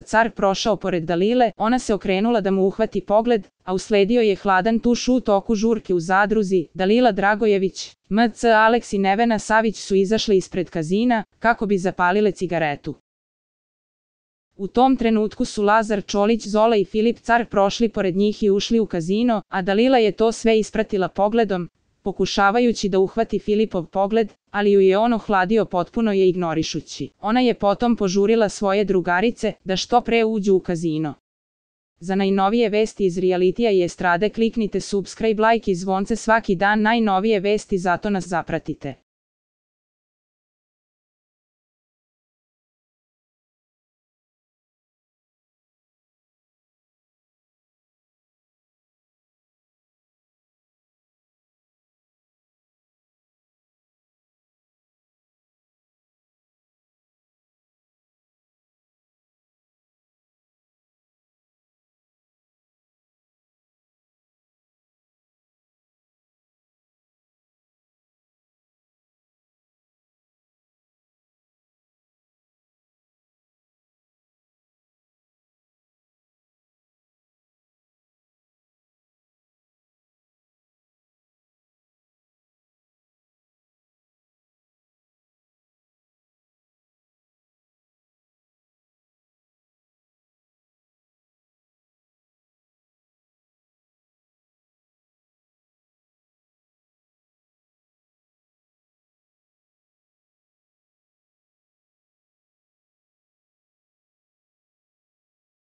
car prošao pored Dalile, ona se okrenula da mu uhvati pogled, a usledio je hladan tuš u toku žurke u zadruzi. Dalila Dragojević, MC Aleks i Nevena Savić su izašli ispred kazina, kako bi zapalile cigaretu. U tom trenutku su Lazar Čolić, Zola i Filip Car prošli pored njih i ušli u kazino, a Dalila je to sve ispratila pogledom, pokušavajući da uhvati Filipov pogled, ali ju je on ohladio potpuno je ignorišući. Ona je potom požurila svoje drugarice da što pre uđu u kazino. Za najnovije vesti iz realitija i estrade kliknite subscribe, like i zvonce svaki dan, najnovije vesti, zato nas zapratite.